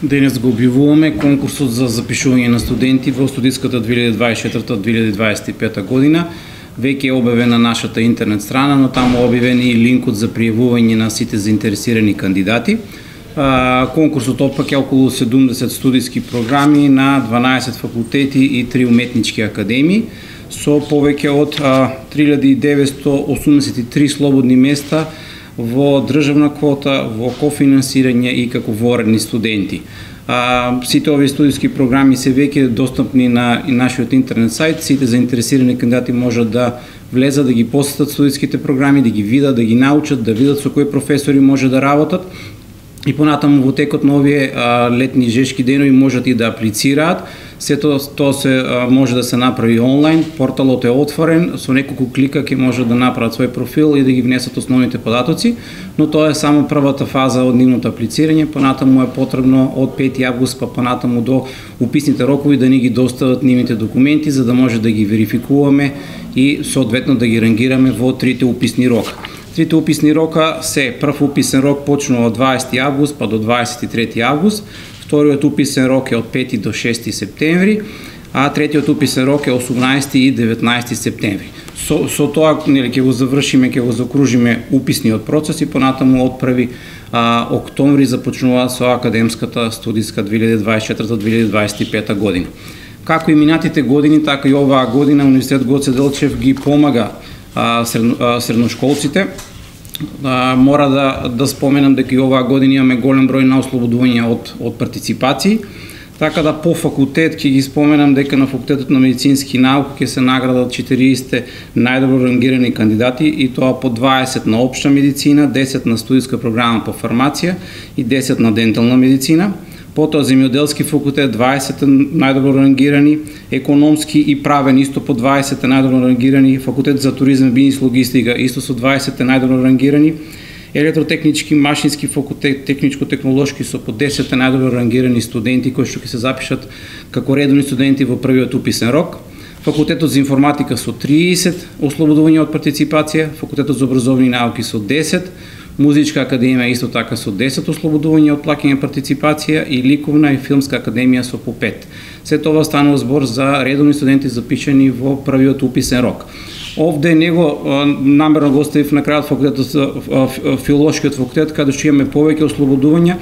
Денес го објавуваме конкурсот за запишување на студенти во студиската 2024-2025 година. Веќе е објавен на нашата интернет страна, но таму е објавен и линкот за пријавување на сите заинтересирани кандидати. Конкурсот опфаќа околу 70 студиски програми на 12 факултети и 3 уметнички академии, со повеќе од 3983 слободни места во државна квота, во кофинансирање и како воредни студенти. Сите овие студиски програми се веќе достапни на нашиот интернет сајт. Сите заинтересирани кандидати можат да влезат, да ги посетат студиските програми, да ги видат, да ги научат, да видат со кои професори може да работат. И понатаму во текот на овие летни жешки денови можат и да аплицираат. Сето тоа се може да се направи онлайн, порталот е отворен, со неколку клика ќе можат да направат свој профил и да ги внесат основните податоци, но тоа е само првата фаза од нивното аплицирање. Понатаму е потребно од 5 август па понатаму до уписните рокови да ни ги достават нивните документи, за да може да ги верификуваме и соодветно да ги рангираме во трите уписни рока. Трите уписни рока се: прв уписен рок почнува од 20 август па до 23 август, вториот уписен рок е од 5 до 6 септември, а третиот уписен рок е 18 и 19 септември. Со тоа ќе го завршиме, ќе го закружиме уписниот процес и понатаму од 1 октомври започнува со академската студиска 2024-2025 година. Како и минатите години, така и оваа година Универзитет Гоце Делчев ги помага средношколците. Мора да споменам дека и оваа година имаме голем број на ослободувања од партиципации. Така да по факултет ќе ги споменам дека на факултетот на медицински науки ќе се наградат 40 најдобро рангирани кандидати, и тоа по 20 на општа медицина, 10 на студиска програма по фармација и 10 на дентална медицина. Потоа земјоделски факултет 20 најдобро рангирани, економски и правен исто по 20 најдобро рангирани, факултет за туризам, бизнис, логистика исто со 20 најдобро рангирани, електротехнички, машински факултет, техничко-технолошки со по 10 најдобро рангирани студенти кои што ќе се запишат како редовни студенти во првиот уписен рок. Факултетот за информатика со 30 ослободувања од партиципација, факултетот за образовни науки со 10, Музичка академија исто така со 10 ослободувања од плаќање партиципација и Ликовна и Филмска академија со по 5. Се тоа станува збор за редовни студенти запишани во првиот уписен рок. Овде него намерно го оставив на крајот факултетот за филолошкиот факултет, каде што имаме повеќе ослободувања.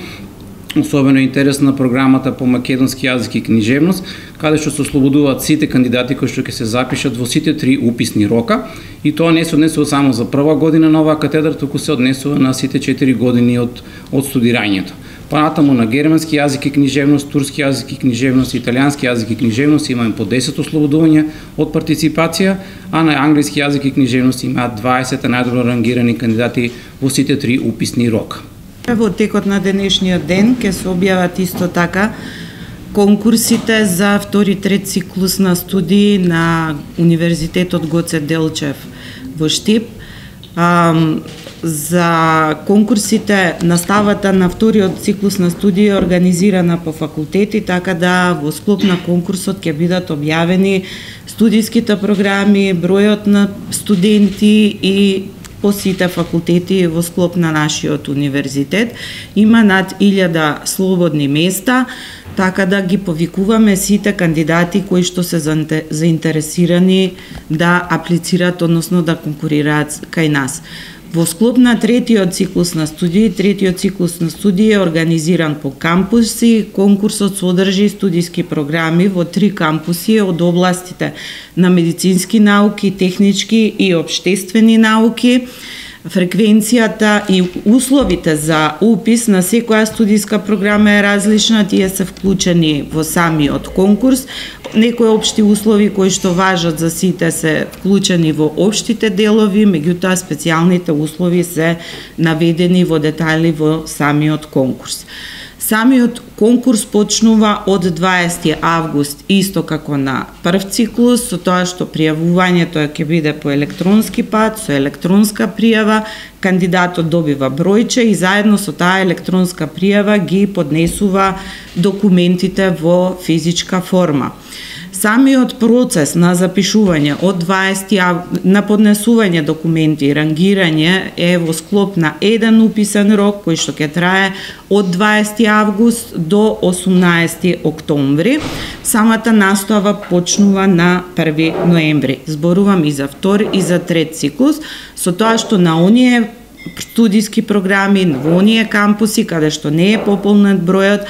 Особено интересна програмата по македонски јазик и книжевност, каде што се ослободуваат сите кандидати кои што ќе се запишат во сите 3 уписни рока, и тоа не се однесува само за прва година на оваа катедра, туку се однесува на сите 4 години од студирањето. Понатаму на германски јазик и книжевност, турски јазик и книжевност, италијански јазик и книжевност имаме по 10 ослободувања од партиципација, а на англиски јазик и книжевност имаат 20 најдобро рангирани кандидати во сите 3 уписни рока. Во текот на денешниот ден ќе се објават исто така конкурсите за втори трет циклус на студии на Универзитетот Гоце Делчев во Штип. За конкурсите наставата на вториот циклус на студии е организирана по факултети, така да во склоп на конкурсот ќе бидат објавени студиските програми, бројот на студенти и по сите факултети во склоп на нашиот универзитет. Има над 1000 слободни места, така да ги повикуваме сите кандидати кои што се заинтересирани да аплицираат, односно да конкурираат кај нас. Во склоп на третиот циклус на студии е организиран по кампуси. Конкурсот содржи студиски програми во 3 кампуси од областите на медицински науки, технички и општествени науки. Фреквенцијата и условите за упис на секоја студиска програма е различна, тие се вклучени во самиот конкурс. Некои општи услови кои што важат за сите се вклучени во општите делови, меѓутоа специјалните услови се наведени во детали во самиот конкурс. Самиот конкурс почнува од 20 август, исто како на прв циклус, со тоа што пријавувањето ќе биде по електронски пат, со електронска пријава, кандидатот добива бројче и заедно со таа електронска пријава ги поднесува документите во физичка форма. Самиот процес на запишување од 20 на поднесување документи и рангирање е во склоп на еден уписен рок кој што ќе трае од 20 август до 18 октомври. Самата настава почнува на 1 ноември. Зборувам и за втори и за трет циклус, со тоа што на оние студиски програми, во оние кампуси каде што не е пополнет бројот,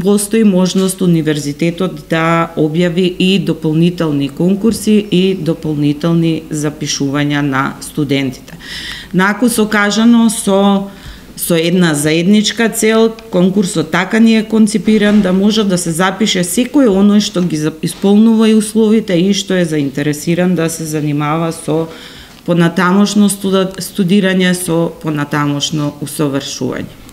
постои можност универзитетот да објави и дополнителни конкурси и дополнителни запишувања на студентите. Наку сокажано со една заедничка цел, конкурсот така ни е конципиран да може да се запише секој оној што ги исполнува и условите и што е заинтересиран да се занимава со понатамошно студирање, со понатамошно усовршување.